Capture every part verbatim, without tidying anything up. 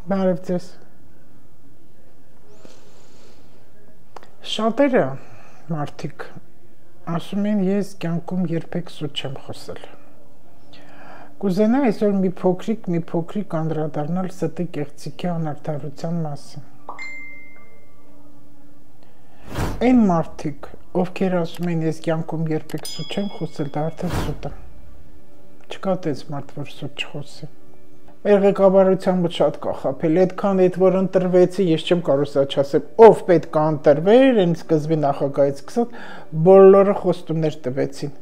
Բարև ձեզ։ Շատերը մարդիկ ասում են ես կյանքում երբեք սուտ չեմ խոսել։ Կուզենա այսօր մի փոքրիկ, մի փոքրիկ անդրադառնալ ստի կեղծիքի անարդարության մասին։ Այն մարդիկ, ովքեր ասում են ես կյանքում երբեք սուտ չեմ խոսել, դա արդեն սուտ է։ Չկա տես մարդ, որ սուտ չխոսի։ Մեր ղեկավարությամբ շատ կախապել, այդքան այդ որ ընտրվեցի, ես չեմ կարող սա չասեմ, ով պետք է ընտրվեր, այն սկզբի նախագահից սկսած, բոլորը խոստումներ տվեցին,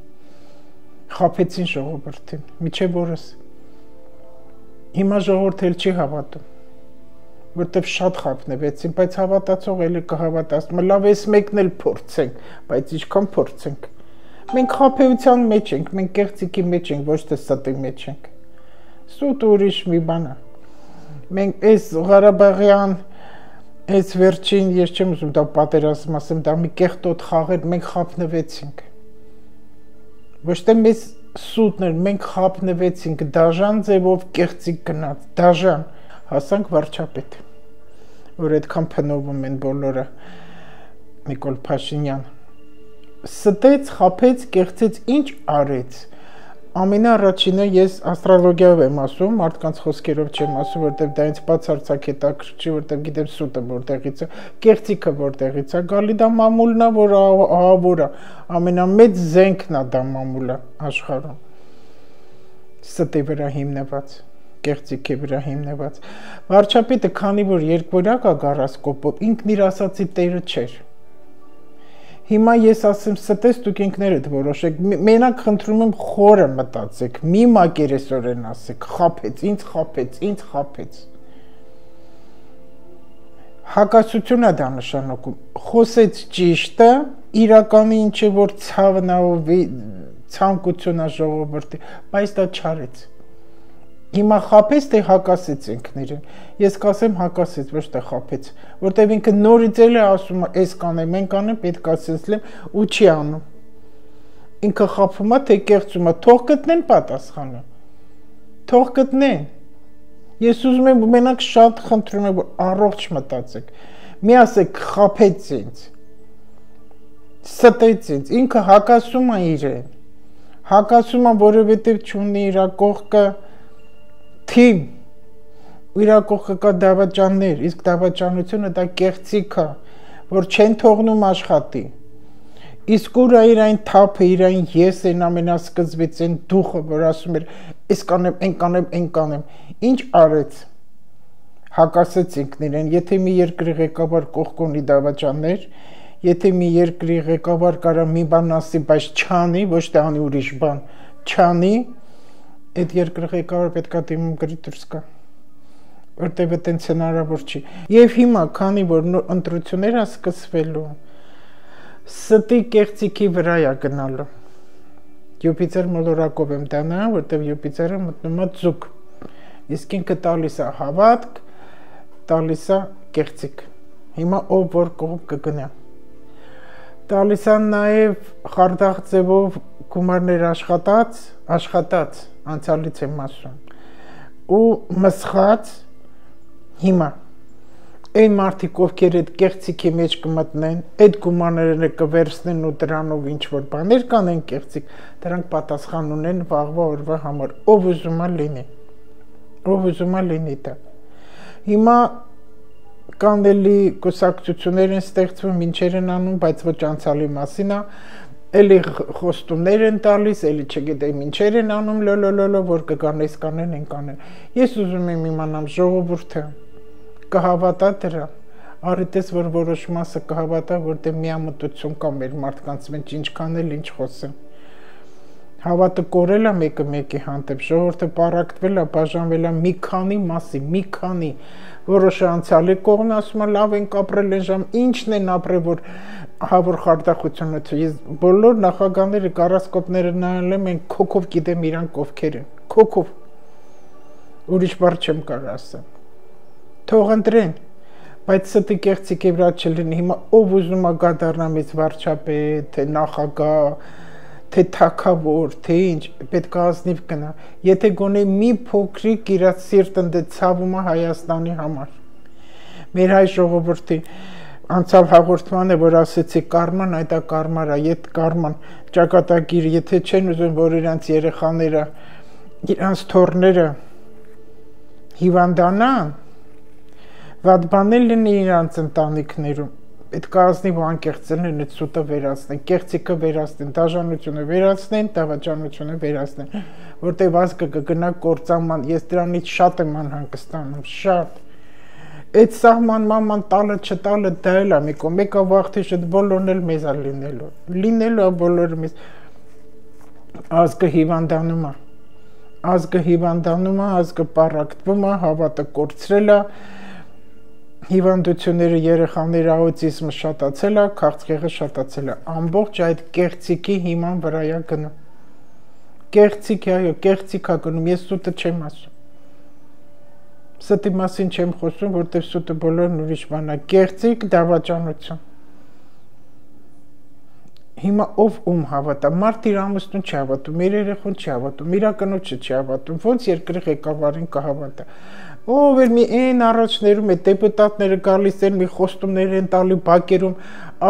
խաբեցին ժողովրդին, միջև օրս։ Հիմա ժողովուրդը էլ չի հավատում, որտեվ շատ խաբնվեցին, բայց հավատացող էլի կհավատացնում, լավ էս մեկն էլ փորձենք, բայց ինչքան փորձենք։ Մենք խաբեության մեջ ենք, մենք կեղծիքի մեջ ենք, ոչ թե ստի մեջ ենք։ Սուտ ուրիշ մի բան է։ Մենք այս Ղարաբաղյան, այս վերջին, ես չեմ ուզում դա պատերազմ ասեմ, դա մի կեղտոտ խաղեր, մենք խաբնվեցինք։ Ոչ թե մեզ սուտն էր, մենք խաբնվեցինք, դաժան ձևով կեղծիկ գնաց, դաժան, հասանք վարչապետ, որ այդքան փնովում են բոլորը, Նիկոլ Փաշինյան։ Ստեց, խաբեց, կեղծեց, ինչ արեց։ Ամենաառաջինը ես աստրոլոգիայով եմ ասում, մարդկանց խոսքերով չեմ ասում, որտեղ դա ինձ բացարձակ հետաքրքրի, որտեղ գիտեմ սուտը որտեղից է, կեղծիքը որտեղից է, գալի դա մամուլն է, որ ահավոր է, ամենամեծ զենքն է դա մամուլը աշխարհում։ Ստի վրա հիմնված, կեղծիքի վրա հիմնված։ Վարչապետը, քանի որ երկվորյակ է գառասկոպով, ինքն իր ասացի տերը չէր։ Հիմա ես ասեմ ստես դուք ինքներդ որոշեք, մենակ խնդրում եմ խորը մտածեք, մի մակերեսորեն ասեք, խաբեց, ինձ խաբեց, ինձ խաբեց։ Հակասություն է դա նշանակում, խոսեց ճիշտը, իրականի ինչ է որ ցավն է, ցանկություն է ժողովրդի, բայց դա չարեց։ Հիմա խաբեց, թե հակասեց ինքներին, ես կասեմ հակասեց, ոչ թե խաբեց, որտև ինքը նորից էլ է ասում, այս կանեմ, են կանեմ, պետք ասեցլեմ, ու չի անում։ Ինքը խաբում է, թե կեղծում է, թող գտնեն պատասխանը, թող գտնեն։ Ես ուզում եմ մենակ շատ խնդրում եմ, որ առողջ մտածեք, մի ասեք խաբեց ինձ, ստեց ինձ, ինքը հակասում է իրեն, հակասում է, որովհետև չունի իր կողքը թիմ, իր կողքը կա դավաճաններ, իսկ դավաճանությունը դա կեղծիք է, որ չեն թողնում աշխատի, իսկ ուր է իր այն թափը, իր այն ես են ամենասկզբից են դուխը, որ ասում էր, ես կանեմ, են կանեմ, են կանեմ, ինչ արեց, հակասեց ինքն իրեն, եթե մի երկրի ղեկավար կողք ունի դավաճաններ, եթե մի երկրի ղեկավար կարա մի բան ասի, բայց չանի, ոչ թե անի ուրիշ բան, չանի, այդ երկրի ղեկավարը պետք է դիմում գրի դուրս գա, որտև այդտենց հնարավոր չի։ Եվ հիմա, քանի որ ընտրություններ է սկսվելու, ստի կեղծիքի վրա է գնալու։ Յուպիտեր մոլորակով եմ դա նայում, որտև Յուպիտերը մտնում է ձուկ, իսկ ինքը տալիս է հավատք, տալիս է կեղծիք։ Հիմա ով որ կողմ կգնա։ Տալիս է նաև խարդախ ձևով գումարներ աշխատած, աշխատած, անցյալից եմ ասում, ու մսխած հիմա, այն մարդիկ, ովքեր այդ կեղծիքի մեջ կմտնեն, այդ գումարները կվերցնեն ու դրանով ինչ-որ բաներ կանեն կեղծիք, դրանք պատասխան ունեն վաղվա օրվա համար, ով ուզում է լինի, ով ուզում է լինի դա։ Հիմա կան էլի կուսակցություններ են ստեղծվում, ինչեր են անում, բայց ոչ անցյալի մասին է, էլի խոստումներ են տալիս, էլի չգիտեմ ինչեր են անում, լոլոլոլո, որ կգան այս կանեն, են կանեն։ Ես ուզում եմ իմանամ ժողովուրդը կհավատա դրա, առիտես, որ որոշ մասը կհավատա, որտեղ միամտություն կա մեր մարդկանց մեջ, ինչքան էլ ինչ խոսեմ։ Հավատը կորել է մեկը մեկի հանդեպ, ժողովուրդը պառակտվել է, բաժանվել է մի քանի մասի, մի քանի, որոշը անցյալի կողմն ասում է, լավ ենք ապրել են ժամ, ինչն են ապրել, որ հավոր խարդախությունը չէ, ես բոլոր նախագահները, կառասկոպները նայել եմ, են քոքով գիտեմ իրանք ովքեր են, քոքով, ուրիշ բառ չեմ կարող ասեմ, թող ընտրեն, բայց ստի կեղծիքի վրա չլինի, հիմա ով ուզում է գա դառնա մեծ վարչապետ, թե նախագահ, թե թակավոր, թե ինչ, պետք է ազնիվ գնա, եթե գոնե մի փոքրիկ իր սիրտը դե ցավում է Հայաստանի համար։ Մեր հայ ժողովրդի անցավ հաղորդմանը, որ ասեցի կարման, այդ է կարմարա, ետ կարման ճակատագիր, եթե չեն ուզում, որ իրանց երեխաները, իրանց թոռները հիվանդանան, վատ բաներ լինի իրանց ընտանիքներում, պետք է ազնիվ ու անկեղծ լինեն, այդ սուտը վերացնեն, կեղծիքը վերացնեն, դաժանությունը վերացնեն, դավաճանությունը վերացնեն, որտեղ ազգը կգնա կործանման, ես դրանից շատ եմ անհանգստանում, շատ։ Այդ սահմանման տալը չտալը դա էլ է մի կողմ, մեկը վաղ թե շուտ բոլորն էլ մեզ է լինելու, լինելու է բոլորը մեզ, ազգը հիվանդանում է, ազգը հիվանդանում է, ազգը պառակտվում է, հավատը կորցրել է, հիվանդությունները, երեխաների աուտիզմը շատացել է, քաղցկեղը շատացել է, ամբողջ այդ կեղծիքի հիման վրա է գնում, կեղծիք է, այո, կեղծիք է գնում, ես սուտը չեմ ասում, ստի մասին չեմ խոսում, որտեղ սուտը բոլորն ուրիշ բան է, կեղծիք, դավաճանություն, հիմա ով ում հավատա, մարդ իր ամուսնուն չի հավատում, իր երեխուն չի հավատում, իր կնոջը չի հավատում, ոնց երկրի ղեկավարին կհավատա, ով էր մի այն առաջներում է դեպուտատները գալիս են, մի խոստումներ են տալի բակերում,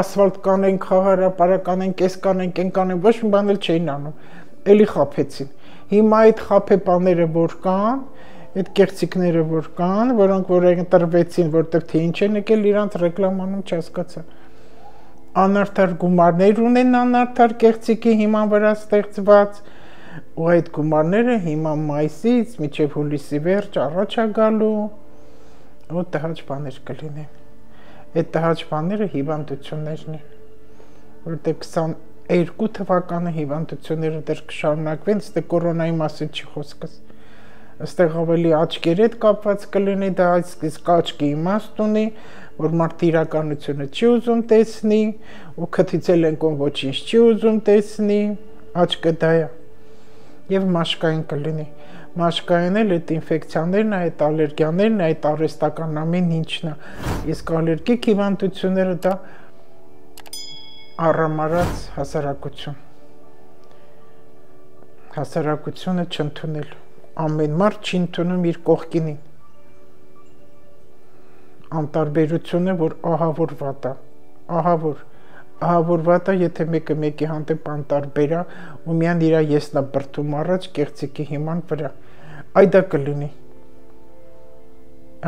ասֆալտ կանենք, խաղահարապարակ կանենք, կես կանենք, են կանենք, ոչ մի բան էլ չէին անում, էլի խաբեցին, հիմա այդ խաբեբաները որ կան, այդ կեղծիքները որ կան, որոնք որ ընտրվեցին, որտեղ թե ինչ են եկել իրանց ռեկլամանում չհասկացա, անարդար գումարներ ունեն անարդար կեղծիքի հիման վրա ստեղծված, ու այդ գումարները հիմա մայիսից մինչև հուլիսի վերջ առաջ է գալու, ու տհաճ բաներ կլինեն, այդ տհաճ բաները հիվանդություններն են, որտեղ քսաներկու թվականը հիվանդությունները դեռ կշարունակվեն, ստե կորոնայի մասին չի խոսքս, այստեղ ավելի աչքերի հետ կապված կլինի, դա իսկ աչքի իմաստ ունի, որ մարդը իրականությունը չի ուզում տեսնի, ու քթիցել են կոն ոչինչ չի ուզում տեսնի, աչքը դա է, և մաշկային կլինի, մաշկային էլ այդ ինֆեկցիաներն, այդ ալերգիաներն, այդ արհեստական ամեն ինչն է, իսկ ալերգիկ հիվանդությունները դա առամարած հասարակություն, հասարակությունը չընդունել, ամեն մարդ չի ընդունում իր կողքինին, անտարբերությունը, որ ահավոր վատ է, ահավոր, ահավոր վատ է, եթե մեկը մեկի հանդեպ անտարբեր է, ու միան իրա եսնա բրդում առաջ կեղծիքի հիման վրա, այդա կլինի,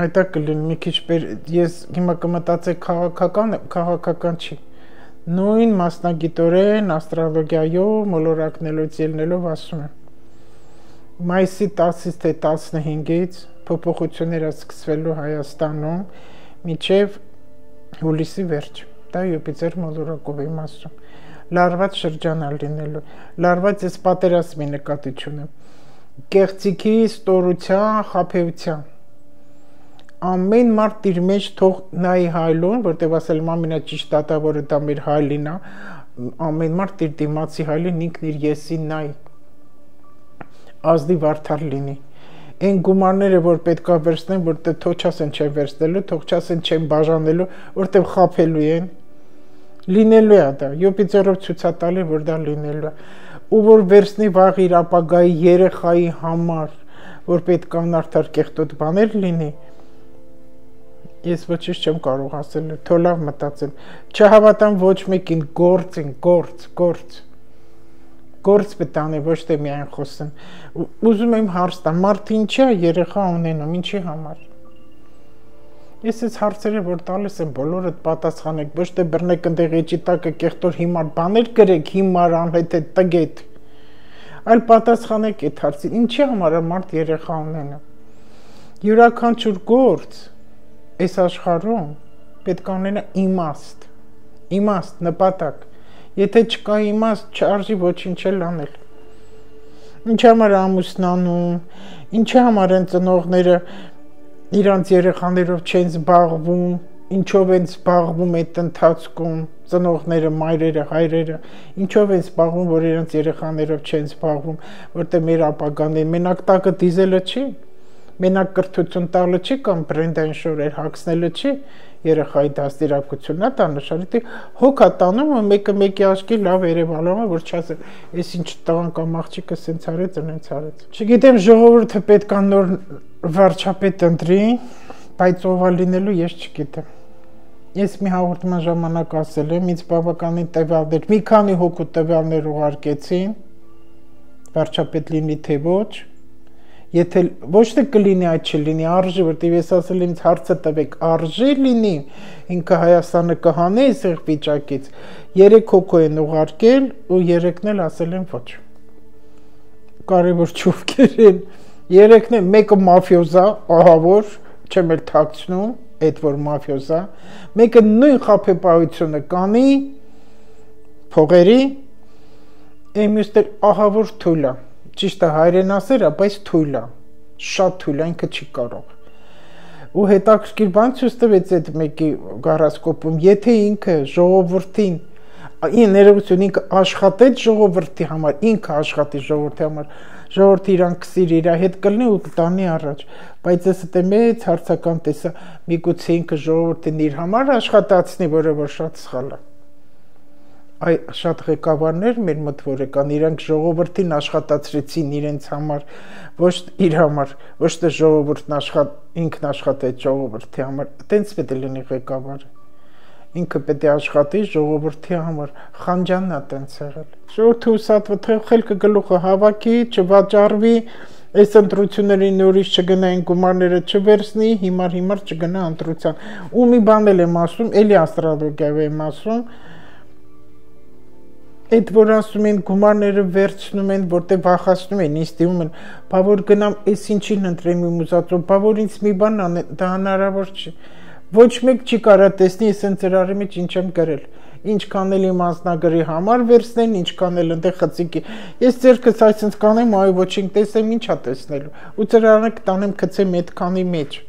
այդա կլինի, մի քիչ բեր, ես հիմա կմտածեք քաղաքական, քաղաքական չի, նույն մասնագիտորեն, աստրոլոգիայով, մոլորակնելուց ելնելով ասում եմ, մայիսի տասից թե տասնհինգից փոփոխությունները սկսվելու Հայաստանում մինչև հուլիսի վերջ, դա Յուպիտեր մոլորակով եմ ասում, լարված շրջան է լինելու, լարված ես պատերազմի նկատիչում եմ, կեղծիքի, ստորության, խաբեության, ամեն մարդ իր մեջ թող նայի հայլուն, որտեղ ասել եմ ամենաճիշտ դատավորը դա մեր հայլին է, ամեն մարդ իր դիմացի հայլին ինքն իր եսին նայի, ազնիվ արդար լինի, այն գումարները, որ պետք է վերցնեն, որտեղ թող չասեն չեն վերցնելու, թող չասեն չեն բաժանելու, որտեղ խաբելու են, լինելու է դա, Յուպիտերով ցույցատալի, որ դա լինելու է, ու որ վերցնի վաղ իր ապագայի երեխայի համար, որ պետք է անարդար կեղտոտ բաներ լինի, ես ոչինչ չեմ կարող ասել, թող լավ մտածեմ, չհավատամ ոչ մեկին, գործ են, գործ, գործ, գործ պետք է ոչ թե միայն խոսեմ, ուզում եմ հարց տամ, մարդը ինչի է երեխա ունենում, ինչի համար, ես այս հարցերը, որ տալիս եմ, բոլորդ պատասխանեք, ոչ թե բռնեք ընդեղ էջի տակը կեղտոր հիմար բաներ գրեք, հիմար անհետ է տգետ, այլ պատասխանեք այդ հարցին, ինչի համար է մարդ երեխա ունենում, յուրաքանչյուր գործ, այս աշխարհում պետք է ունենա իմաստ, իմաստ, նպատակ, եթե չկա իմաստ, չարժի ոչինչ էլ անել, ինչ համար ամուսնանում, ինչ համար են ծնողները իրանց երեխաներով չեն զբաղվում, ինչով են զբաղվում այդ ընթացքում, ծնողները, մայրերը, հայրերը, ինչով են զբաղվում, որ իրանց երեխաներով չեն զբաղվում, որտեղ մեր ապագան է, մենակ տակը դիզելը չի, մենակ կրթություն տալը չի կամ բրենդային շորեր հագցնելը չի երեխայի դաստիարակությունն է դա նշանակի հոգա տանում ու մեկը մեկի աչքի լավ երևալով է որ չասել այս ինչ տղան կամ աղջիկը սենց արեց այնց արեց չգիտեմ ժողովուրդը պետք է նոր վարչապետ ընտրի բայց ով է լինելու ես չգիտեմ ես մի հաղորդման ժամանակ ասել եմ ինձ բավականին տվյալներ մի քանի հոգու տվյալներ ուղարկեցին վարչապետ լինի թե ոչ եթե ոչ թե կլինի այդ չլինի արժի որտեղ ես ասել եմ ինձ հարցը տվեք արժի լինի ինքը Հայաստանը կհանի այստեղ վիճակից երեք հոգու են ուղարկել ու երեքն էլ ասել են ոչ կարևոր չովքեր են երեքն են մեկը մաֆիոզա ահավոր չեմ էլ թաքցնում այդ որ մաֆիոզա մեկը նույն խաբեբայությունը կանի փողերի Էմյուստեր ահավոր թույլ է, ճիշտ է հայրենասեր է, բայց թույլ է, շատ թույլ է, ինքը չի կարող։ Ու հետաքրքիր բան ցույց տվեց այդ մեկի գարասկոպում, եթե ինքը ժողովրդին, ներողություն, ինքը աշխատեց ժողովրդի համար, ինքը աշխատի ժողովրդի համար, ժողովրդը իրան կսիր իր հետ կլինի ու կտանի առաջ, բայց ես դե մեծ հարցական տեսա, միգուցե ինքը ժողովրդին իր համար աշխատացնի, որը որ շատ սխալ է։ Այ շատ ղեկավարներ մեր մտավոր եկան իրանք ժողովրդին աշխատացրեցին իրենց համար ոչ իր համար ոչ թե ժողովուրդն աշխատ ինքն աշխատեց ժողովրդի համար տենց պետք է լինի ղեկավարը ինքը պետք է աշխատի ժողովրդի համար Խանջանն է տենց եղել ժողովուրդը ուսատվը խելքը գլուխը հավաքի չվաճառվի այս ընտրությունների նորից չգնային գումարները չվերցնի հիմար հիմար չգնա ընտրության ու մի բան էլ եմ ասում էլի աստրոլոգիայով եմ ասում Այդ որ ասում են գումարները վերցնում են, որտեղ վախացնում են, ինձ դիմում են, բա որ գնամ, այս ինչին ընտրեմ իմ ուզածով, բա որ ինձ մի բան անեն, դա հնարավոր չի։ Ոչ մեկ չի կարա տեսնի, ես ընդ ծրարի մեջ ինչ եմ գրել։ Ինչքան էլ իմ անձնագրի համար վերցնեն, ինչքան էլ ընդ խցիկի։ Ես ձերքս այսպես կանեմ, այ ոչինչ տեսեմ, ինչա տեսնելու։ Ու ծրարանը կտանեմ գցեմ այդքանի մեջ։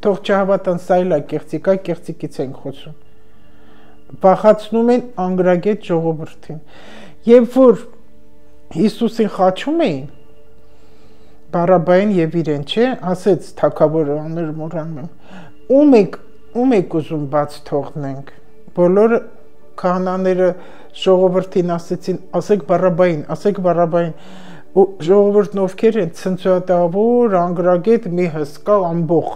Թող չհավատան, սա էլ է կեղծիկ, այ կեղծիկից են խոսում։ Վախացնում են անգրագետ ժողովրդին երբ որ Հիսուսին խաչում էին Բարաբային եւ իրեն չէ ասեց թագավորը աներ մորանում ում եք ում եք ուզում բաց թողնենք բոլոր քահանաները ժողովրդին ասեցին ասեք Բարաբային ասեք Բարաբային ու ժողովուրդն ովքեր են ցնցուատավոր անգրագետ մի հսկա ամբող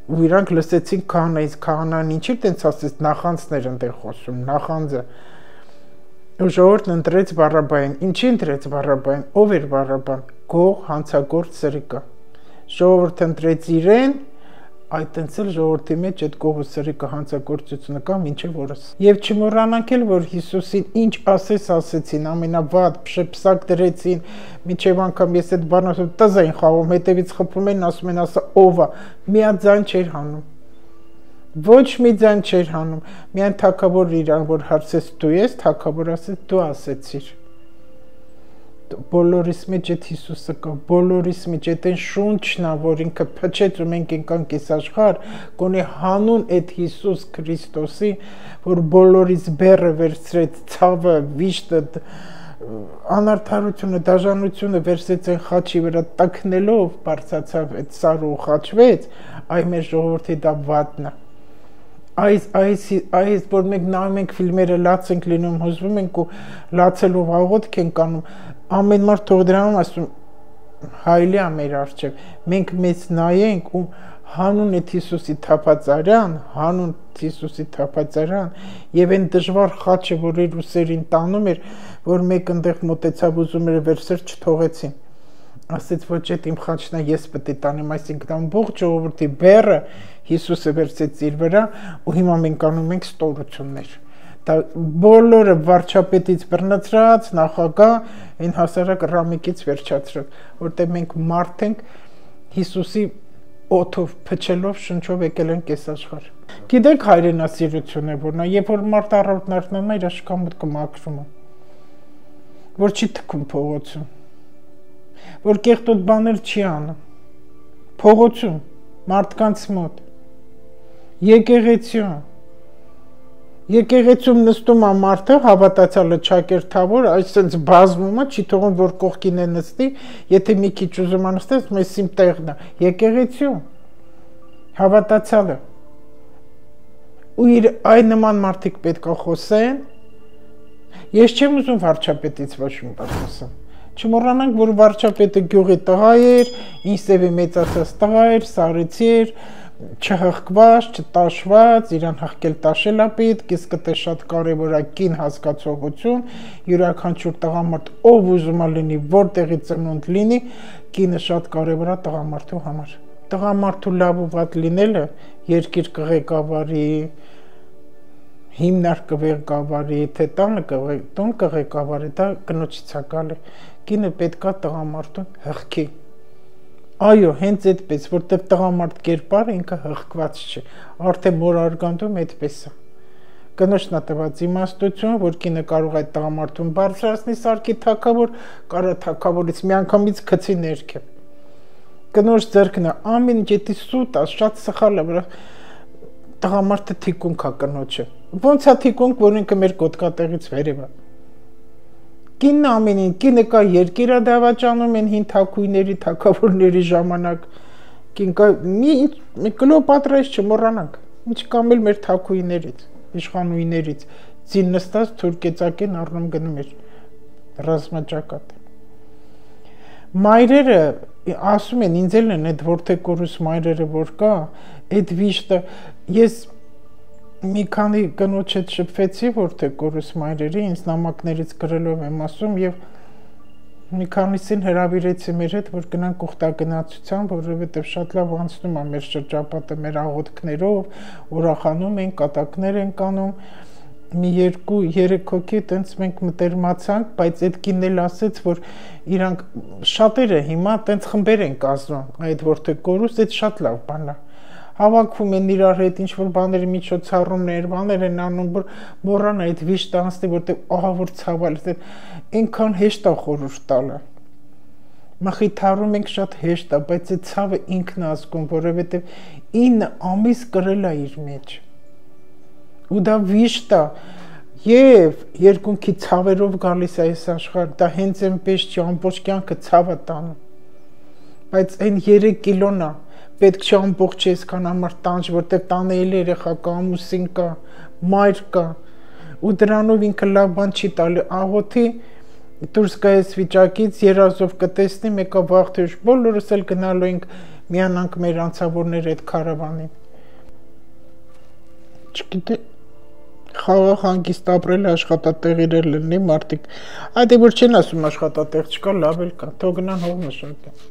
ու իրանք լսեցին քահանայից քահանան ինչի տենց ասեց նախանձներ ընդեղ խոսում նախանձը ու ժողովուրդն ընտրեց Բարաբային ինչի ընտրեց Բարաբային ով էր Բարաբան գող հանցագործ սրիկը ժողովուրդը ընտրեց իրեն այդ տենց էլ ժողովրդի մեջ այդ գողը սրիկը հանցագործությունը կա մինչև օրս եւ չմոռանանք էլ որ Հիսուսին ինչ ասես ասեցին ամենավատ փշպսակ դրեցին մինչև անգամ ես այդ բանը ասում տզային խաղում հետևից խփում են ասում են ասա ով է միաձայն չէր հանում ոչ մի ձայն չէր հանում միայն թագավոր իրան որ հարցեց դու ես թագավոր ասեց դու ասեցիր բոլորիս մեջ այդ Հիսուսը կա բոլորիս մեջ այդ այն շունչն է որ ինքը փչեց ու մենք ենք այս աշխարհ կոնե հանուն այդ Հիսուս Քրիստոսի որ բոլորիս բեռը վերցրեց ցավը վիշտը անարդարությունը դաժանությունը վերցրեց այն խաչի վրա տակնելով բարձացավ այդ սարը ու խաչվեց այ մեր ժողովրդի դա վատն է Այս այս այս որ մենք նայում ենք ֆիլմերը լաց ենք լինում հուզվում ենք ու լացելով աղոթք ենք անում ամեն մարդ թող դրանում ասում հայլի է մեր արժև մենք մեծ նայենք ու հանուն այդ Հիսուսի թափածարյան հանուն Հիսուսի թափածարյան եւ այն դժվար խաչը որ իր ուսերին տանում էր որ մեկ ընդեղ մոտեցավ ուզում էր վերցրել չթողեցին ասեց ոչ այդ իմ խաչն է ես պետք է տանեմ այսինքն ամբողջ ժողովրդի բեռը Հիսուսը վերցեց իր վրա ու հիմա մենք անում ենք ստորություններ դա բոլորը վարչապետից բռնացրած նախագահ այն հասարակ ռամիկից վերջացրած որտեղ մենք մարդ ենք Հիսուսի օթով փչելով շնչով եկել ենք այս աշխարհ գիտեք հայրենասիրությունը որն է երբ որ մարդ առավոտն արթնանում է իր աշկամուտքը մաքրում է որ չի թքում փողոցում որ կեղտոտ բաներ չի անում փողոցում մարդկանց մոտ եկեղեցիում Եկեղեցում նստում է մարդը, հավատացյալը ճակերտավոր, այսպես բազմում է, չի թողում որ կողքին է նստի, եթե մի քիչ ուզում է նստես, մեզ իմ տեղն է։ Եկեղեցու հավատացյալը ու իր այն նման մարդիկ պետք է խոսեն։ Ես չեմ ուզում վարչապետից ոչ մի բան խոսեմ։ Չմոռանանք, որ վարչապետը գյուղի տղա էր, ինձևի մեծացած տղա էր, սարեցի էր, չհղկված, չտաշված, իրան հղկել տաշել է պետք, իսկ դա շատ կարևոր է կին հասկացողություն, յուրաքանչյուր տղամարդ ով ուզում է լինի, որտեղի ծնունդ լինի, կինը շատ կարևոր է տղամարդու համար։ Տղամարդու լավ ու վատ լինելը երկիր կղեկավարի, հիմնարկ կղեկավարի, թե տանը տուն կղեկավարի, դա կնոջից է գալի։ Կինը պետք է տղամարդուն հղկի։ Այո, հենց այդպես, որտեղ տղամարդ կերպարը ինքը հղկված չի, արդեն մոր արգանդում այդպես է։ Կնոջն է տված իմաստություն, որ կինը կարող է տղամարդուն բարձրացնի սարքի թագավոր, կարա թագավորից միանգամից գցի ներքև։ Կնոջ ձեռքն է ամեն ինչ էդի սուտ է, շատ սխալ է, վրա տղամարդը թիկունք է կնոջը։ Ոնց է թիկունք, որ ինքը մեր կոտկատեղից վերև է։ Կինն ամեն ինչ, կինը կա երկիր է դավաճանում են հին թագուհիների, թագավորների ժամանակ։ Կին կա մի Կլեոպատրայից չմոռանանք, ինչ կամ էլ մեր թագուհիներից, իշխանուհիներից, ծին նստած թուրքեծակեն առնում գնում էր ռազմաճակատ։ Մայրերը ասում են, ինձ էլ են այդ որդեկորուս մայրերը որ կա, այդ վիշտը, ես մի քանի կնոջ հետ շփվեցի որդեկորուս մայրերի, ինձ նամակներից գրելով եմ ասում եւ մի քանիսին հրավիրեցի մեր հետ, որ գնանք ուխտագնացության, որովհետեւ շատ լավ անցնում է մեր շրջապատը, մեր աղոթքներով, ուրախանում են, կատակներ են կանում, մի երկու երեք հոգի տենց մենք մտերմացանք, բայց այդ կինն էլ ասեց, որ իրանք շատերը հիմա տենց խմբեր են կազմում, այդ որդեկորուս, այդ շատ լավ բան է։ Հավաքվում են իրար հետ, ինչ-որ բաների միջոցառումներ, բաներ են անում, որ մոռան այդ վիշտը անցնի, որտեղ ահա որ ցավալ է, այնքան հեշտ է խորհուրդ տալը։ Մխիթարում ենք շատ հեշտ է, բայց այդ ցավը ինքն է ազգում, որովհետև ինը ամիս կրել է իր մեջ։ Ու դա վիշտ է, եւ երկունքի ցավերով գալիս է այս աշխարհ, դա հենց այնպես չի, ամբողջ կյանքը ցավ է տանում։ Բայց այն երեք կիլոն է, պետք չէ ամբողջ այսքան համար տանջ, որտեղ տանը էլ երեխա կա, ամուսին կա, մայր կա, ու դրանով ինքը լավ բան չի տալի, աղոթի դուրս գա այս վիճակից, երազով կտեսնի, մեկը վաղ թե ուշ բոլորս էլ գնալու ենք միանանք մեր անցավորների այդ քարավանին։ Չգիտեմ, խաղաղ հանգիստ ապրել աշխատատեղեր լինի մարդիկ, այդ որ չեն ասում աշխատատեղ չկա, լավ էլ կա, թող գնան հող մշակեն։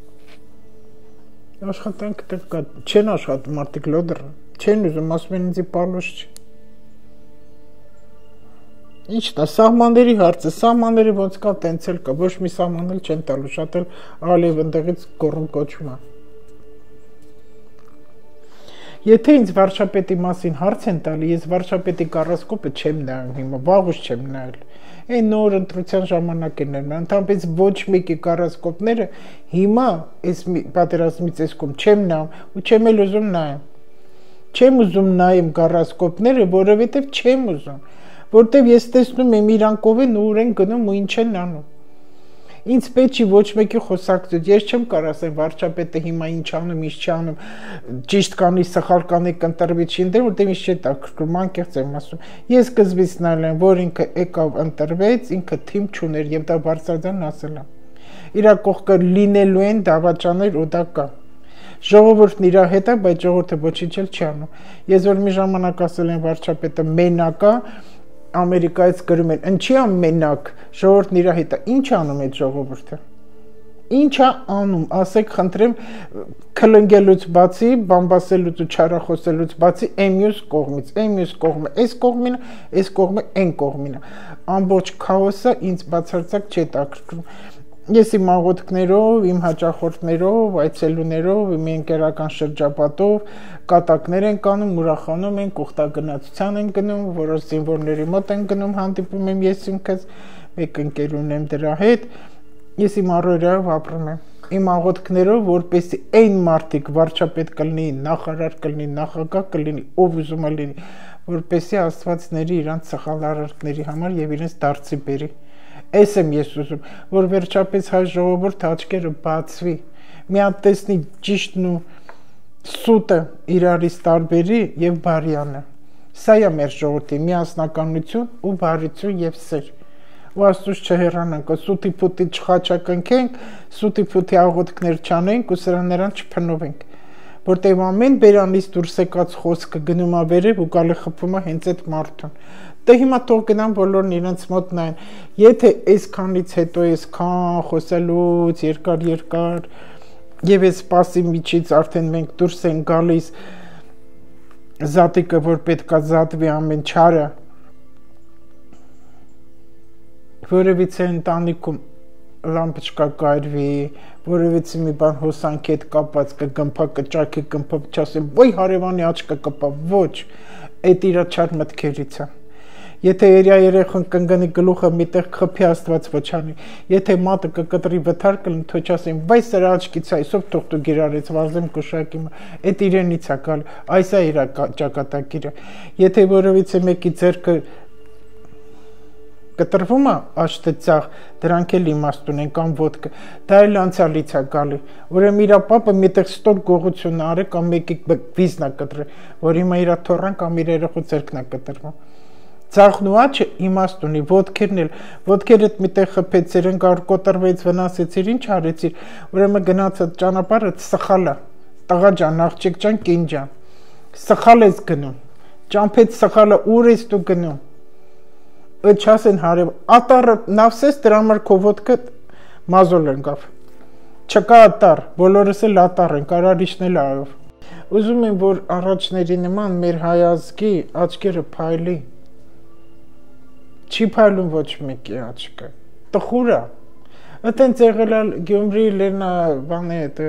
Աշխատանք տեղ կա, չեն աշխատում մարդիկ լոդր, չեն ուզում, ասում են ինձի պալոշ չի։ Ինչն է, սահմանների հարցը, սահմանների ոնց կա, տենց էլ կա, ոչ մի սահման էլ չեն տալու, շատ էլ ալիև ընդեղից կոռում կոչում է։ Եթե ինձ վարչապետի մասին հարց են տալի, ես վարչապետի կառասկոպը չեմ նայում հիմա, վաղուց չեմ նայել։ Այն նոր ընտրության ժամանակ են նայում, ընդհանրապես ոչ մեկի կառասկոպները հիմա այս պատերազմից այս կողմ չեմ նայում ու չեմ էլ ուզում նայեմ։ Չեմ ուզում նայեմ կառասկոպները, որովհետև չեմ ուզում, որտեվ ես տեսնում եմ իրանք ով են ու ուր են գնում ու ինչ են անում։ Ինձ պետք չի ոչ մեկի խոսակցություն, ես չեմ կարող ասել վարչապետը հիմա ինչ անում, ինչ չանում, ճիշտ կանի, սխալ կանի, կընտրվի չի ընտրել, որտեղ ինչ չի տակրում, անկեղծ եմ ասում։ Ես սկզբից նայել եմ, որ ինքը եկավ ընտրվեց, ինքը թիմ չուներ եւ դա բարձրաձայն ասել է։ Իրա կողքը լինելու են դավաճաներ ու դա կա։ Ժողովուրդն իր հետ է, բայց ժողովուրդը ոչինչ էլ չի անում։ Ես որ մի ժամանակ ասել եմ վարչապետը մենակ է, Ամերիկայից գրում են, ինչի է մենակ, ժողովուրդն իր հետ է, ինչ անում այդ ժողովուրդը։ Ինչ է անում, ասեք, խնդրեմ, քլնգելուց բացի, բամբասելուց ու չարախոսելուց բացի, այն մյուս կողմից, այն մյուս կողմը, այս կողմինը, այս կողմը, այն կողմինը։ Ամբողջ քաոսը ինձ բացարձակ չի տակրկրում։ Ես իմ աղոթքներով, իմ հաճախորդներով, այցելուներով, իմ ընկերական շրջապատով կատակներ են կանում, ուրախանում են, ուխտագնացության են գնում, որոշ զինվորների մոտ են գնում, հանդիպում եմ ես ինքս, մեկ ընկեր ունեմ դրա հետ, ես իմ առօրյայով ապրում եմ, իմ աղոթքներով, որպեսզի այն մարդիկ վարչապետ կլինի, նախարար կլինի, նախագահ կլինի, ով ուզում է լինի, որպեսզի Աստվածների իրանց սխալ արարքների համար եւ իրենց դարձի բերի։ Այս եմ ես ուզում, որ վերջապես հայ ժողովուրդը աչքերը բացվի, մի հատ տեսնի ճիշտն ու սուտը իրարից տարբերի եւ բարյանը։ Սա է մեր ժողովրդի միասնականություն ու բարություն եւ սեր։ Ու Աստուծո չհեռանանք, սուտի փուտի չխաչակնքենք, սուտի փուտի աղոթքներ չանենք ու սրան նրան չփնովենք, որտեղ ամեն բերանից դուրս եկած խոսքը գնում է վերև ու գալի խփում է հենց այդ մարդուն։ Դե հիմա թող գնան բոլորն իրենց մոտ նայեն, եթե այսքանից հետո այսքան խոսելուց երկար երկար եւ այս սպասի միջից արդեն մենք դուրս են գալիս զատիկը, որ պետքա զատվի ամեն չարը, որևիցե ընտանիքում լամպочка կայրվի, որևիցե մի բան հոսանքի հետ կապած կգմփա, կճակի գմփա, չասեմ, ոյ հարևանի աչքը կպա, ոչ, այդ իրա չար մտքերից է։ Եթե երիա երեխան կընկնի գլուխը միտեղ խփի Աստված ոչանի, եթե մատը կկտրի վթար կլինի, թող չասեն, վայ սրա աչքից է, այսով թող դու գիրարեց, վազեմ կուշակի, այդ իրենից է գալ, այս է իր ճակատագիրը։ Եթե որևիցե մեկի ձեռքը կտրվում է աշտեցաղ, դրանք էլ իմաստ ունեն կամ ոտքը, դա էլ անցյալից է գալի, ուրեմն իր պապը միտեղ ստոր գողություն արի կամ մեկի վիզն է կտրել, որ հիմա իր թոռան կամ իր երեխու ձեռքն է կտրվում։ Ծաղն ու աչը իմաստ ունի, ոտքերն էլ, ոտքերդ միտեղ խփեցիր, ընկար կոտրվեց, վնասեցիր, ինչ արեցիր, ուրեմն գնացած ճանապարհը սխալ է, տղա ջան, աղջիկ ջան, կին ջան, սխալ ես գնում, ճամփեց սխալը, ուր ես դու գնում։ Այդ չասեն հարև, ատարը նավսես դրա համար քո ոտքը մազոլ ընկավ։ Չկա ատար, բոլորս էլ ատար են, կարար իջնել այով։ Ուզում եմ, որ առաջների նման մեր հայ ազգի աչքերը փայլի։ Չի փայլում ոչ մեկի աչքը։ Տխուր է։ Այդտենց եղել է Գյումրի Լենա բանի հետ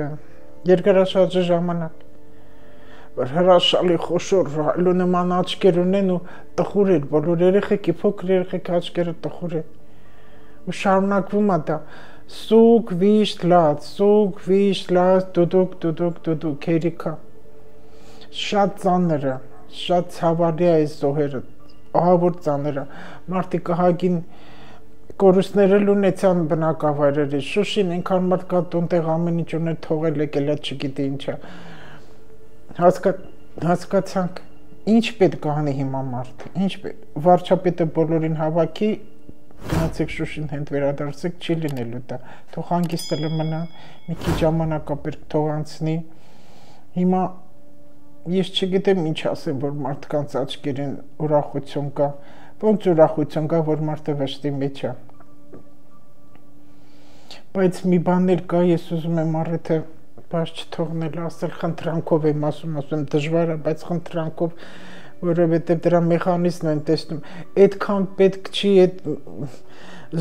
երկարաշարժի ժամանակ։ Որ հրաշալի խոշոր ռայլու նման աչքեր ունեն ու տխուր են, բոլոր երեխեքի փոքր երեխեքի աչքերը տխուր են։ Ու շարունակվում է դա սուկ վիշտ լաց, սուկ վիշտ լաց, դուդուկ դուդուկ դուդուկ երիքա։ Շատ ծանր է, շատ ցավալի է այս զոհերը, ահավոր ծանր է։ Մարդիկ ահագին կորուստներ էլ ունեցան բնակավայրերի, Շուշին այնքան մարդ կա տունտեղ ամեն ինչ ուներ թողել եկել է չգիտի ինչա։ Հասկա հասկացանք ինչ պետք է անի հիմա մարդը, ինչ պետք վարչապետը բոլորին հավաքի, գնացեք Շուշին հենց վերադարձեք, չի լինելու դա, թող հանգիստը մնա, մի քիչ ժամանակ ապեր թող անցնի։ Հիմա ես չգիտեմ ինչ ասեմ, որ մարդկանց աչքերին ուրախություն կա, ոնց ուրախություն կա, որ մարդը վշտի մեջ է։ Բայց մի բաներ կա, ես ուզում եմ առիթը բաց չթողնել, ասել խնդրանքով եմ ասում, ասում դժվար է, բայց խնդրանքով, որովհետև դրա մեխանիզմն են տեսնում, այդքան պետք չի այդ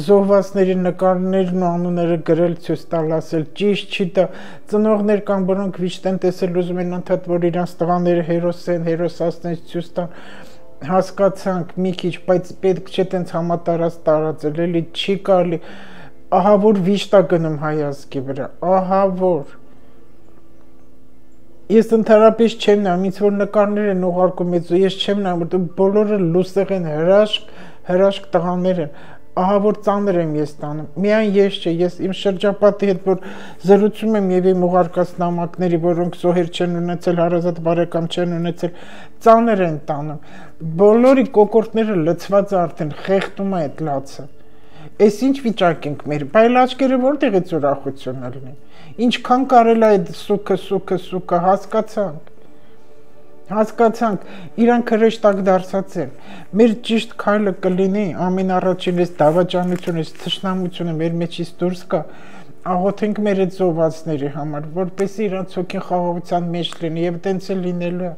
զոհվածների նկարներն ու անունները գրել ցույց տալ, ասել ճիշտ չի դա, ծնողներ կան, որոնք վիշտ են տեսել, ուզում են անդադ, որ իրանց տղաները հերոս են, հերոսացնեն ցույց տան, հասկացանք մի քիչ, բայց պետք չէ տենց համատարած տարածել, էլի չի կարելի, ահա որ վիշտ է գնում հայ ազգի վրա, ահա որ Ես ընդհանրապես չեմ նայում, ինձ որ նկարներ են ուղարկում, ես չեմ նայում, որ բոլորը լուսեղ են, հրաշք, հրաշք տղաներ են, ահա որ ծանր եմ ես տանում, միայն ես չէ, ես իմ շրջապատի հետ, որ զրուցում եմ և իմ ուղարկած նամակների, որոնք զոհեր չեն ունեցել, հարազատ բարեկամ չեն ունեցել, ծանր են տանում, բոլորի կոկորտները լցված արդեն, խեղդում է այդ լացը, այս ինչ վիճակ ենք մեր, բայլ աչքերը որտեղից ուրախություն լինի, ինչքան կարել է այդ սուքը, սուքը, սուքը, հասկացանք, հասկացանք, իրանք հրեշտակ դարձած են, մեր ճիշտ քայլը կլինի, ամեն առաջին այս դավաճանությունը, այս թշնամությունը մեր մեջից դուրս կա, աղոթենք մեր այդ զոհվածների համար, որպեսզի իրանց հոգին խաղաղության մեջ լինի եւ տենց էլ լինելու է,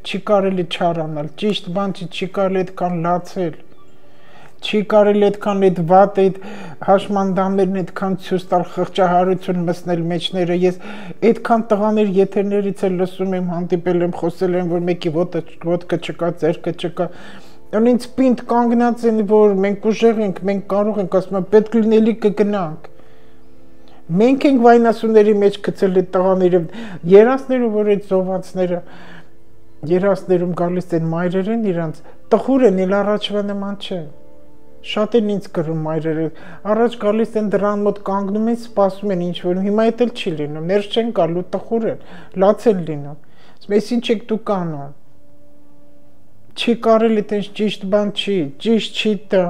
չի կարելի չարանալ, ճիշտ բան չի, չի կարելի այդքան լացել, չի կարելի այդքան այդ վատ այդ հաշմանդամերն այդքան ցույց տալ խղճահարություն մտցնել մեջները, ես այդքան տղաներ եթերներից էլ լսում եմ, հանդիպել եմ, խոսել եմ, որ մեկի ոտքը չկա, ձեռքը չկա, ինձ պինդ կանգնած են, որ մենք ուժեղ ենք, մենք կարող ենք, ասում եմ, պետք լինելի կգնանք, մենք ենք վայնասուների մեջ գցել այդ տղաները, երասները, որ այդ զոհվածները երասներում գալիս են մայրերեն իրանց, տխուր են, իլ առաջվա նման չէ։ Շատ են ինձ գրում մայրերը, առաջ գալիս են դրան մոտ կանգնում են, սպասում են ինչ-որ, հիմա էդ էլ չի լինում, ներս չեն գալու, տխուր են, լաց են լինում։ Ես ինչ եք դուք անում։ Չի կարելի տենց ճիշտ բան չի, ճիշտ չի դա։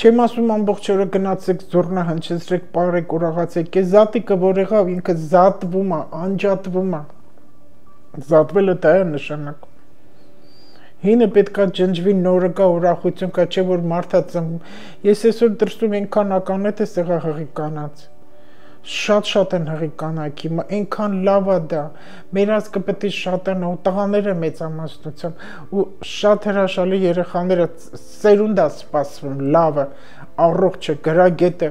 Չեմ ասում ամբողջ օրը գնացեք զուռնա հնչեցրեք, պարեք, ուրախացեք, այս զատիկը որ եղավ ինքը զատվում է, անջատվում է։ Զատվելը դա է նշանակում։ Հինը պետքա ջնջվի, նորը կա, ուրախություն կա, չէ որ մարդա ծնվում։ Ես այսօր դրսում այնքան ականետ է սեղա հղի կանած։ Շատ-շատ են հղի կանայք, հիմա այնքան լավ է դա։ Մեր ազգը պետք է շատանա ու տղաները մեծամասնությամբ ու շատ հրաշալի երեխաները սերունդ է սպասվում, լավը, առողջը, գրագետը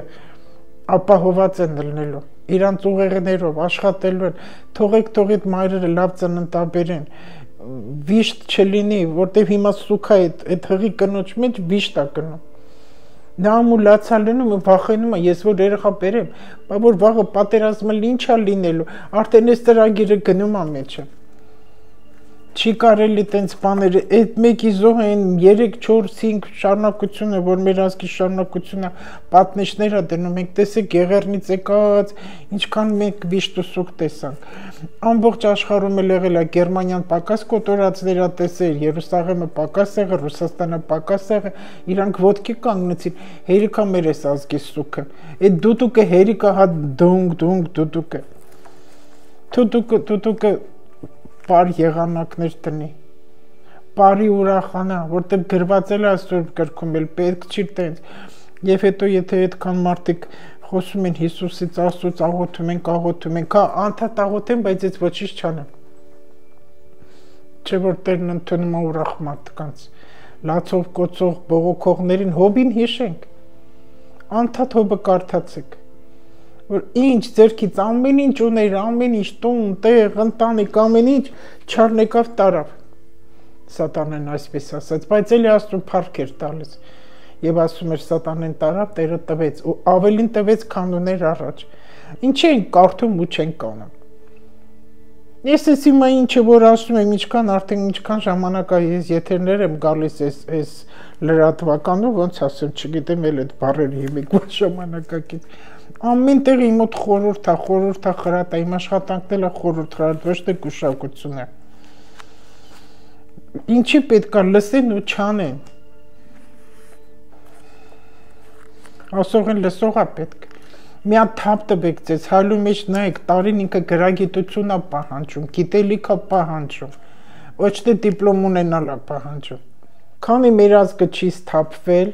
ապահոված են լինելու։ Իրանց ուղեղներով աշխատելու են, թողեք թողիդ մայրերը լավ ծննդաբեր են, վիշտ չլինի, որտեվ հիմա սուքա այդ հղի կնոջ մեջ վիշտ է կնում։ Նա ամուլացա լինում ու վախենում է, ես որ երեխա բերեմ, բայց որ վաղը պատերազմը ինչ է լինելու, արդեն այս ծրագիրը գնում է մեջը։ Չի կարելի տենց բաները, այդ մեկի զոհ են երեք, չորս, հինգ շարունակությունը, որ մեր ազգի շարունակությունը պատնեշներ է դնում, մենք տեսեք Եղեռնից եկած, ինչքան մենք վիշտ ու սուկ տեսանք։ Ամբողջ աշխարհում էլ եղել է Գերմանիան պակաս կոտորածներ ա տեսել, Երուսաղեմը պակաս եղել, Ռուսաստանը պակաս եղել, իրանք ոտքի կանգնեցին, հերիքա մեր էս ազգի սուքը։ Այդ դուտուկը հերիքա հա դունգ դունգ դուտուկը։ Դուտուկը դուտուկը պար եղանակներ տնի, պարի ուրախանա, որտեղ գրված էլ այսօր գրքում էլ պետք չի տենց, և հետո եթե այդքան մարդիկ խոսում են Հիսուսից, Աստծուց աղոթում են, աղոթում են, կա անդադ աղոթեն, բայց ես ոչինչ չանեմ, չէ որ Տերն ընդունում է ուրախ մարդկանց, լացով կոծող բողոքողներին հոբին հիշենք, անդադ հոբը կարդացեք, որ ինչ ձերքից ամեն ինչ ուներ, ամեն ինչ տուն, տեղ, ընտանիք, ամեն ինչ չառնեկավ տարավ։ Սատանեն այսպես ասաց, բայց էլի Աստծուն փառք էր տալիս։ Եվ ասում էր Սատանեն տարավ, Տերը տվեց, ու ավելին տվեց, քան ուներ առաջ։ Ինչ են կարդում ու չեն կանում։ Ես ես հիմա ինչը որ ասում եմ, ինչքան արդեն ինչքան ժամանակ է ես եթերներ եմ գալիս այս լրատվականով, ոնց ասեմ, չգիտեմ էլ այդ բառերը հիմիկ որ ժամանակակից։ Ամեն տեղ իմ մոտ խորհուրդ է, խորհուրդ է խրատ է, իմ աշխատանքն էլ է խորհուրդ խրատ, ոչ թե գուշակություն է։ Ինչի պետք է լսեն ու չանեն։ Ասող են լսող է պետք։ Մի հատ թափ տվեք ձեզ, հալու մեջ նայեք, տարին ինքը գրագիտություն է պահանջում, գիտելիք է պահանջում, ոչ թե դիպլոմ ունենալ է պահանջում։ Քանի մեր ազգը չի սթափվել,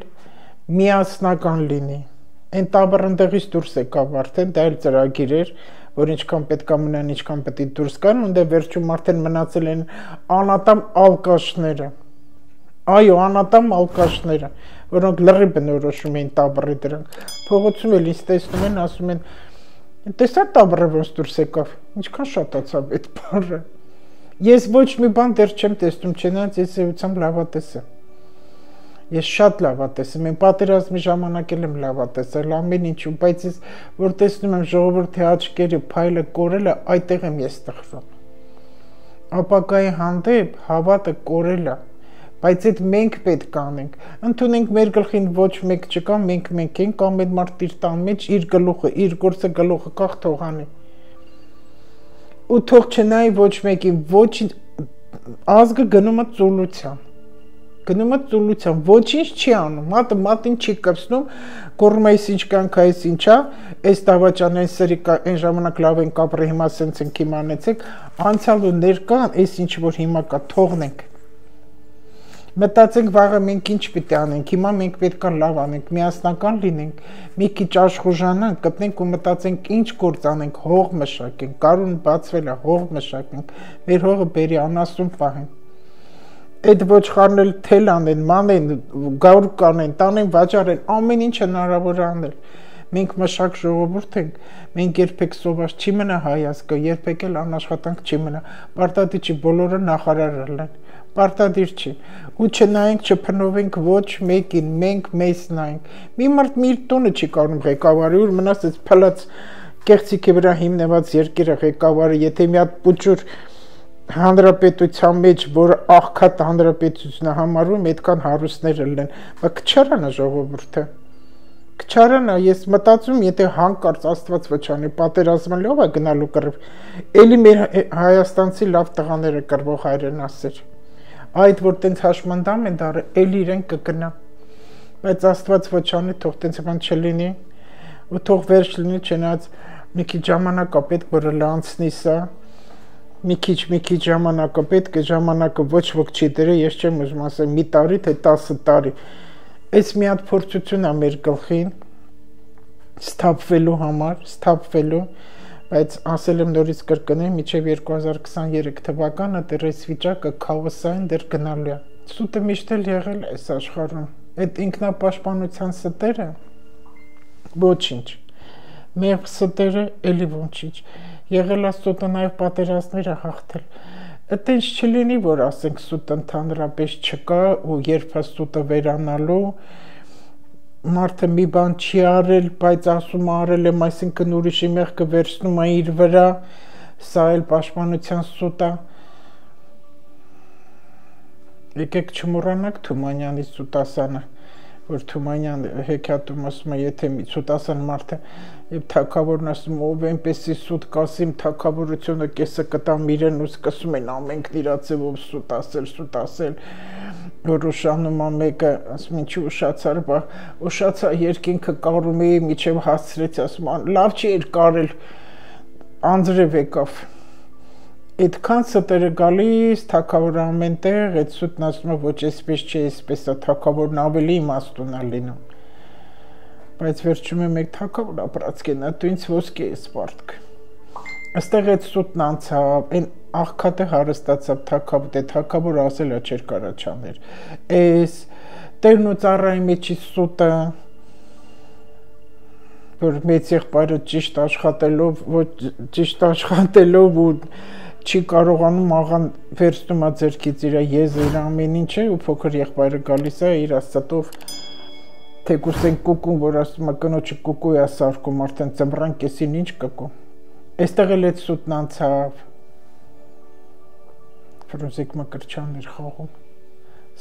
միասնական լինի։ Այն տաբռնդեղից դուրս եկավ արդեն, դա էլ ծրագիր էր, որ ինչքան պետք է մնան, ինչքան պետք է դուրս գան, ու դե վերջում արդեն մնացել են անատամ ալկաշները։ Այո, անատամ ալկաշները, որոնք լրի բնորոշում էին տաբռի դրանք։ Փողոցում էլ ինձ տեսնում են, ասում են, տեսա տաբռը ոնց դուրս եկավ, ինչքան շատացավ այդ բառը։ Ես ոչ մի բան դեռ չեմ տեսնում, չնայած ես էությամբ լավատես եմ։ Ես շատ լավատես եմ, եմ պատերազմի ժամանակ եմ լավատեսել ամեն ինչում, բայց ես որ տեսնում եմ ժողովրդի աչքերը փայլը կորելը, այդտեղ եմ ես տխրում։ Ապակայի հանդեպ հավատը կորել է, բայց այդ մենք պետք է անենք, ընդունենք մեր գլխին ոչ մեկ չկա, մենք մենք ենք, կամ այդ մարդ իր տան մեջ իր գլուխը, իր գործը գլուխը կախ թող անի։ Ու թող չնայի ոչ մեկին, ոչ ազգը գնում է ծուլության։ Գնում է ծուլության, ոչինչ չի անում, մատը մատին չի կպցնում, գոռում է այս ինչ կանք, այս ինչա, այս դավաճան, այս սրի այն ժամանակ լավ են կապրի, հիմա սենց ենք իմանեցեք, անցյալ ու ներկան, այս ինչ որ հիմա կա, թողնենք։ Մտածենք վաղը մենք ինչ պիտի անենք, հիմա մենք պետք է լավ անենք, միասնական լինենք, մի քիչ աշխուժանանք, գտնենք ու մտածենք ինչ գործ անենք, հող մշակենք, կարուն բացվել է, հող մշակենք, մեր հողը բերի անասուն պահենք։ Այդ ոչխարներ թել անեն, մանեն, գարու կանեն, տանեն, վաճառեն, ամեն ինչ հնարավոր անել։ Մենք մշակ ժողովուրդ ենք, մենք երբեք սոված չի մնա հայ ազգը, երբեք էլ անաշխատանք չի մնա, պարտադիր չի բոլորը նախարարել են, պարտադիր չի, ու չնայենք, չփնովենք ոչ մեկին, մենք մեզ նայենք, մի մարդ մի իր տունը չի կարում ղեկավարի, ուր մնաց այս փլած կեղծիքի վրա հիմնված երկիրը ղեկավարը, եթե մի հատ պուճուր հանրապետության մեջ, որ աղքատ հանրապետությունը համարվում, այդքան հարուստներ լինեն, բայց կչարանա ժողովուրդը։ Կչարանա, ես մտածում, եթե հանկարծ Աստված վճանի պատերազմը լավ է գնալու կռիվ, էլի մեր հայաստանցի լավ տղաները կռվող հայրեն ասեր։ Այդ որ տենց հաշմանդամ են դարը, էլի իրեն կգնա։ Բայց Աստված վճանի, թող տենց բան չլինի, ու թող վերջ լինի, չնայած մի քիչ ժամանակ է պետք, որ լանցնի սա, մի քիչ, մի քիչ ժամանակ է պետք, ժամանակը ոչ ոք չի դրել, ես չեմ ուզում ասել մի տարի, թե տասը տարի։ Այս մի հատ փորձություն է մեր գլխին սթափվելու համար, սթափվելու, բայց ասել եմ նորից կրկնեմ, մինչև երկու հազար քսաներեք թվականը դեռ այս վիճակը քաոսային դեռ գնալու է։ Սուտը միշտ էլ եղել է այս աշխարհում։ Այդ ինքնապաշտպանության ստերը ոչինչ։ Մեր ստերը էլի ոչինչ։ Եղել է սուտը նաև պատերազմներ է հաղթել։ Այդտենց չլինի, որ ասենք սուտը ընդհանրապես չկա ու երբ է սուտը վերանալու, մարդը մի բան չի արել, բայց ասում արել եմ, այսինքն ուրիշի մեղքը վերցնում է իր վրա, սա էլ պաշտպանության սուտ է։ Եկեք չմոռանանք Թումանյանի Սուտասանը, որ Թումանյան հեքիաթում ասում է, եթե մի Սուտասան մարդը եւ թագավորն ասում ով այնպեսի սուտ կասիմ թագավորությունը կեսը կտամ իրեն ու սկսում են ամենքն իրա ձևով սուտ ասել, սուտ ասել, որ ուշանում է մեկը, ասում ինչի ուշացար, բա ուշացա երկինքը կարում էի միջև հասցրեց, ասում լավ չի էր կարել, անձրև եկավ։ Այդքան ստերը գալիս, թագավորը ամենտեղ, այդ սուտն ասում է ոչ այսպես չի, այսպես է, թագավորն ավելի իմաստուն է լինում։ Բայց վերջում է մեկ թագավոր ապրած կենա, դու ինձ ոսկի ես պարտք։ Այստեղ այդ սուտն անցավ, այն աղքատը հարստացավ թագավոր, դե թագավորը ասել է չէր կարա չաներ։ Էս տերն ու ծառայի մեջի սուտը, որ մեծ եղբայրը ճիշտ աշխատելով, ոչ ճիշտ աշխատելով ու չի կարողանում աղան վերցնում է ձերքից իր եզերը ամեն ինչը ու փոքր եղբայրը գալիս է իր աստծով թեկուս են կուկուն, որ ասում է կնոջը կուկու է սարքում, արդեն ծմռան կեսին ինչ կկու։ Այստեղ էլ այդ սուտն անցավ։ Ֆրունզիկ Մկրտչյանն էր խաղում։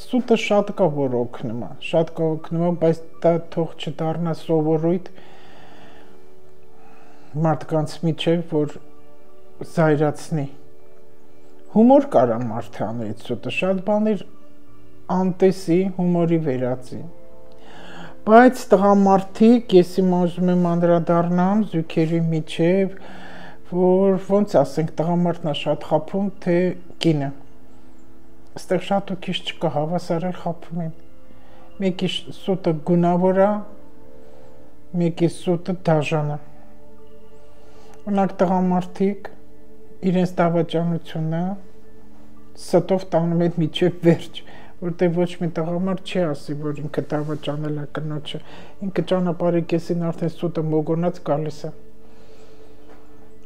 Սուտը շատ կա որ օգնում է, շատ կա օգնում է, բայց դա թող չդառնա սովորույթ մարդկանց միջև, որ զայրացնի։ Հումոր կարա մարդը անի այդ սուտը, շատ բաներ անտեսի, հումորի վերածի։ Բայց տղամարդիկ, ես հիմա ուզում եմ անդրադառնամ զույգերի միջև, որ ոնց ասենք տղամարդն է շատ խաբում, թե կինը։ Այստեղ շատ ու քիչ չկա, հավասար էլ խաբում են։ Մեկի սուտը գունավոր է, մեկի սուտը դաժան է։ Օրինակ տղամարդիկ իրենց դավաճանությունը ստով տանում են միջև վերջ, որտեղ ոչ մի տղամարդ չի ասի, որ ինքը դավաճանել է կնոջը, ինքը ճանապարհի կեսին արդեն սուտը մոգոնած գալիս է։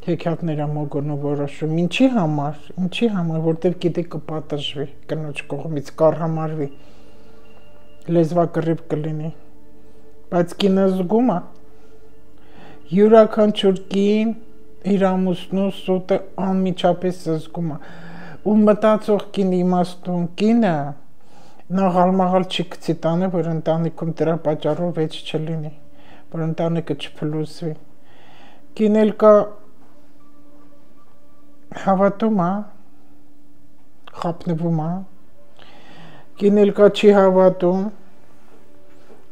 Հեքիաթներ է մոգոնում որոշում, ինչի համար, ինչի համար, որտեղ գիտի կպատժվի, կնոջ կողմից կառհամարվի, լեզվակռիվ կլինի, բայց կինը զգում է, յուրաքանչյուր կին իր ամուսնու սուտը անմիջապես զգում է, ու մտածող կին իմաստուն կինը նա ղալմաղալ չի գցի տանը, որ ընտանիքում դրա պատճառով վեճ չլինի, որ ընտանիքը չփլուզվի։ Կին էլ կա հավատում է, խափնվում է, կին էլ կա չի հավատում,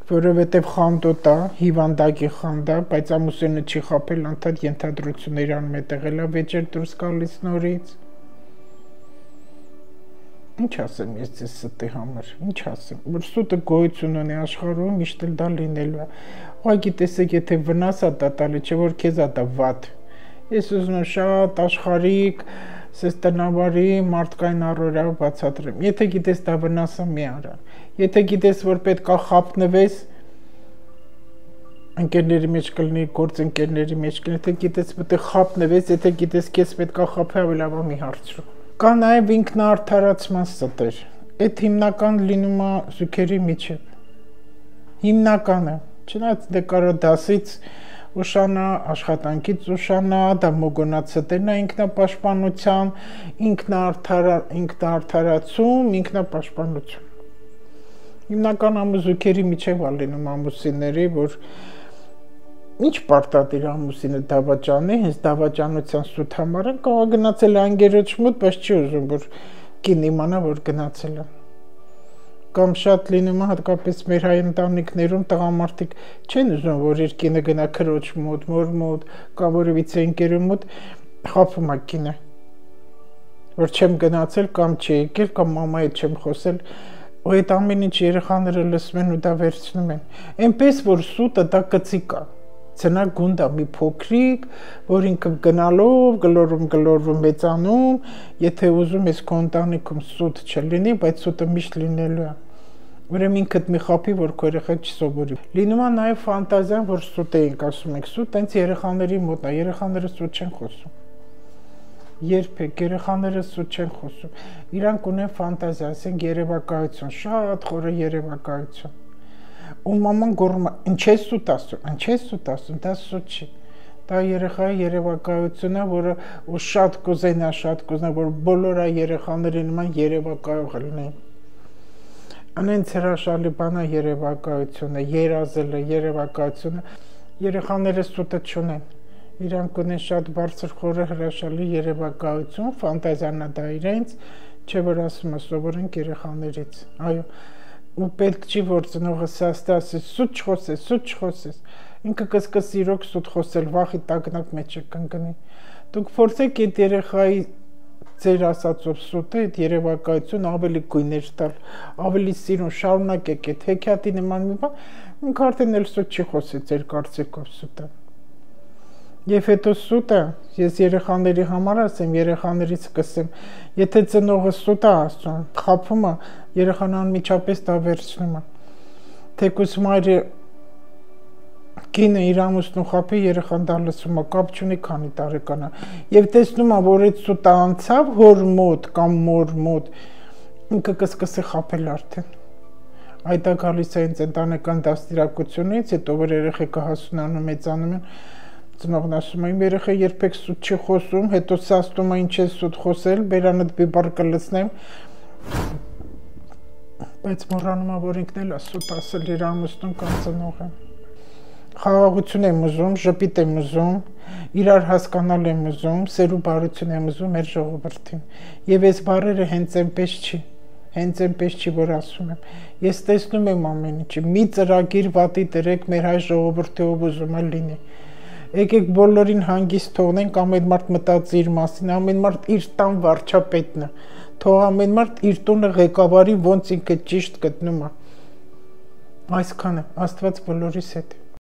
որովհետև խանդոտ է, հիվանդակի խանդ է, բայց ամուսինը չի խափել, անդադ ենթադրություններ անում է տեղել է վեճեր դուրս գալիս նորից։ Ինչ ասեմ ես ձեզ ստի համար, ինչ ասեմ, որ սուտը գոյություն ունի աշխարհում, միշտ էլ դա լինելու է։ Ուղղակի տեսեք, եթե վնաս է դա տալի, չէ որ քեզ է դա վատ։ Ես ուզում եմ շատ աշխարհիկ, սես տնավարի մարդկային առօրյա բացատրեմ։ Եթե գիտես դա վնասը մի արա։ Եթե գիտես, որ պետք է խափնվես, ընկերների մեջ կլինի, գործընկերների մեջ կլինի, եթե գիտես պետք է խափնվես, եթե գիտես քեզ պետք է խափի, ավելի լավ մի հարցրու։ Կա նաև ինքնաարդարացման ստեր։ Այդ հիմնական լինում է զույգերի միջև։ Հիմնականը, չնայած դե կարա դասից ուշանա, աշխատանքից ուշանա, դա մոգոնացտենա ինքնապաշտպանության, ինքնաարդարացում, ինքնապաշտպանություն։ Հիմնական ամուսուքերի միջև ալինում ամուսինների, որ ինչ պարտադիր ամուսինը դավաճանի, հենց դավաճանության սուտ համար են կարող գնացել անգերոջ մոտ, բայց չի ուզում, որ կին իմանա, որ գնացել է։ Կամ շատ լինում է հատկապես մեր հայ ընտանիքներում տղամարդիկ չեն ուզում, որ իր կինը գնա քրոջ մոտ, մոր մոտ, կամ որևիցե ընկերու մոտ, խաբում է կինը, որ չեմ գնացել կամ չի եկել, կամ մամայի հետ չեմ խոսել, ու այդ ամեն ինչ երեխաները լսում են ու դա վերցնում են։ Այնպես որ սուտը դա կծիկ է, ցնա գունդա մի փոքրիկ, որ ինքը գնալով, գլորում գլորվում մեծանում, եթե ուզում ես քո ընտանիքում սուտ չլինի, բայց սուտը միշտ լինելու է։ Ուրեմն ինքդ մի խափի, որ քո երեխան չսովորի։ Լինում է նաև ֆանտազիան, որ սուտ ենք ասում ենք, սուտ այնց երեխաների մոտ է, երեխաները սուտ չեն խոսում։ Երբեք երեխաները սուտ չեն խոսում։ Իրանք ունեն ֆանտազիա, ասենք երևակայություն, շատ խորը երևակայություն։ Ու մաման գոռում է, ինչ է սուտ ասում, ինչ է սուտ ասում, դա սուտ չի։ Դա երեխայի երևակայությունն է, որը ու շատ կուզենա, շատ կուզենա, որ բոլոր այ երեխաների նման երևակայող լինեն։ Անենց հրաշալի բան է երևակայությունը, երազելը, երևակայությունը, երեխաները սուտը չունեն։ Իրանք ունեն շատ բարձր խորը հրաշալի երևակայություն, ֆանտազիան է դա իրենց, չէ որ ասում է սովորենք երեխաներից։ Այո, ու պետք չի որ ծնողը սաստե ասի սուտ չխոսես, սուտ չխոսես։ Ինքը կսկսի իրոք սուտ խոսել, վախի տագնապ մեջ կընկնի։ Դուք փորձեք այդ երեխայի ձեր ասածով սուտը, այդ երևակայություն ավելի գույներ տալ, ավելի սիրուն, շարունակեք այդ հեքիաթի նման մի բան, ինքը արդեն էլ սուտ չի խոսի ձեր կարծիքով սուտը։ Եվ հետո սուտը, ես երեխաների համար ասեմ, երեխաներից կսեմ, եթե ծնողը սուտ է ասում, խափում է, երեխան անմիջապես դա վերցնում է։ Թեկուզ մայրը կինը իր ամուսնու խափի, երեխան դա լսում է, կապ չունի քանի տարեկան է։ Եվ տեսնում է, որ այդ սուտը անցավ հոր մոտ կամ մոր մոտ, ինքը կսկսի խափել արդեն։ Այդ է գալիս է ինձ ընտանեկան դաստիարակությունից, հետո որ երեխեքը հասունանում, մեծանում են, ծնողն ասում է, իմ երեխա երբեք սուտ չի խոսում, հետո սաստում է ինչ է սուտ խոսել, բերանդ բիբար կլցնեմ, բայց մոռանում է, որ ինքն էլ է սուտ ասել իր ամուսնուն կամ ծնողը։ Խաղաղություն եմ ուզում, ժպիտ եմ ուզում, իրար հասկանալ եմ ուզում, սերու բարություն եմ ուզում մեր ժողովրդին։ Եվ այս բառերը հենց այնպես չի, հենց այնպես չի, որ ասում եմ։ Ես տեսնում եմ ամեն ինչը, մի ծրագիր վատի դրեք մեր հայ ժողովրդի ով ուզում է լինի։ Եկեք բոլորին հանգիստ թողնենք, ամեն մարդ մտածի իր մասին, ամեն մարդ իր տան վարչապետն է, թող ամեն մարդ իր տունը ղեկավարի, ոնց ինքը ճիշտ գտնում է։ Այսքանը, Աստված բոլորիս հետ է։